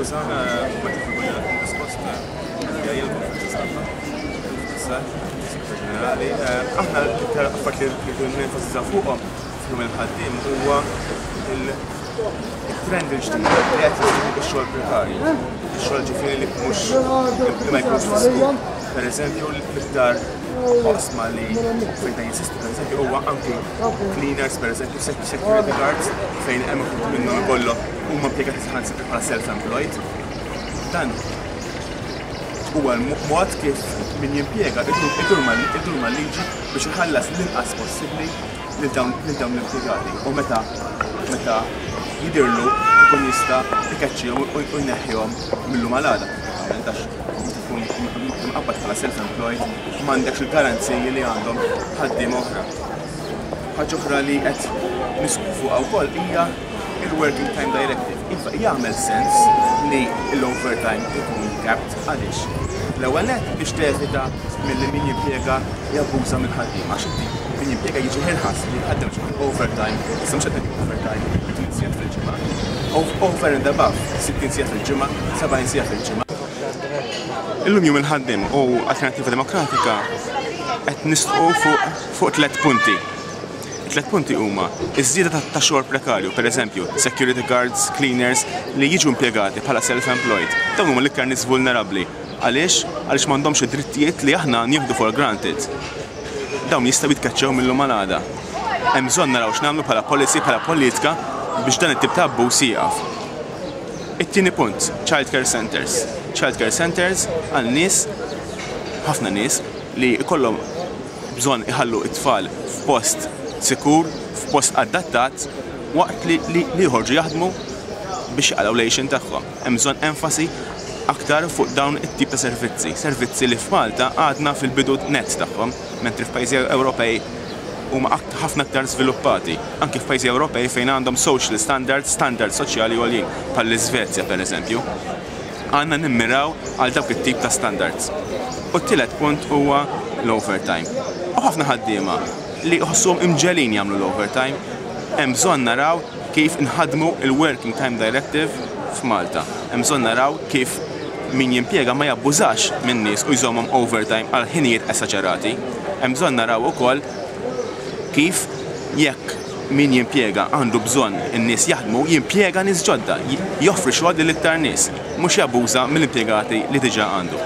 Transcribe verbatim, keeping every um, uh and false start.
Skużawna, ma tifhmu stampa. Ġenerali, aħna l-iktar affarijiet li rridu nenfasizzaw fuqhom f'Jum il-Ħaddiem huwa il-trend il-ġdid li qed jiżdied ix-xogħol prekarju. Ix-xogħol ġifieri li mhux li ma jkunx fis-suq. Per eżempju, l-iktar oqsma li fejn ta' jinsistu, per eżempju, huwa anki cleaners, per eżempju, security guards, fejn hemm uħud minnhom ikollhom huma impjegati saħansitra bħala self-employed. Dan huwa l-mod kif min jimpjega idur mal-liġi biex iħallas l-inqas possibbli lil dawn l-impjegati. U meta meta jidirlu ikun jista' ikeċċihom u jneħħihom mill-lum għal għada. Għax tkun imqabbad bħala self-employed, m'għandekx il-garanziji li għandhom ħaddiema oħra. Ħaġa oħra li qed nisħqu fuqha wkoll hija il-Working Time Directive. Iva, jagħmel sens li l-overtime ikun capped. Għaliex? L-ewwel nett biex tevita milli min jimpjega jabbuża mill-ħaddiem, għax inti min jimpjega jiġi irħas li jħaddem xi overtime, issa mhux qed overtime tmien sigħat fil-ġimgħa. Over and above, sittin siegħa fil-ġimgħa, sebgħin siegħa fil-ġimgħa. Illum Jum il-Ħaddiem u Alternattiva Demokratika qed nisħqu fuq fuq tliet punti. Tliet punti huma iż-żieda ta' xogħol prekarju, per eżempju, security guards, cleaners li jiġu impjegati bħala self-employed. Dawn huma l-iktar nies vulnerabbli. Għaliex? Għaliex m'għandhomx id-drittijiet li aħna nieħdu for granted. Dawn jistgħu jitkeċċew mill-lum għal għada. Hemm bżonn naraw x'nagħmlu bħala policy, bħala politika, biex dan it-tip ta' abbuż jieqaf. It-tieni punt, child care centers. Child care centers għal nies, ħafna nies li jkollhom bżonn iħallu it-tfal f'post sikur, f'post adattat, waqt li, li, li jħorġu jaħdmu biex jaqalgħu l-għixien tagħhom. Hemm bżonn enfasi aktar fuq dawn it-tip ta' servizzi. Servizzi li f'Malta għadna fil-bidu net tagħhom, mentri f'pajjiżi Ewropej huma ħafna aktar żviluppati. Anki f'pajjiżi Ewropej fejn għandhom social standards, standards soċjali għoljin, bħall-Iżvezja, per eżempju. Għandna nimmiraw għal dawk it-tip ta' standards. U t-tielet punt huwa l-overtime. U ħafna ħaddiema li jħossuhom imġegħlin jagħmlu l-overtime. Hemm bżonn naraw kif inħadmu il-Working Time Directive f'Malta. Hemm bżonn naraw kif min jimpjega ma jabbużax minn nies u jżommhom overtime għal ħinijiet esaġerati. Hemm bżonn naraw ukoll kif jekk min jimpjega għandu bżonn in-nies jaħdmu, jimpjega nies ġodda, joffri xogħol lil iktar nies, mhux jabbuża mill-impjegati li diġà għandu.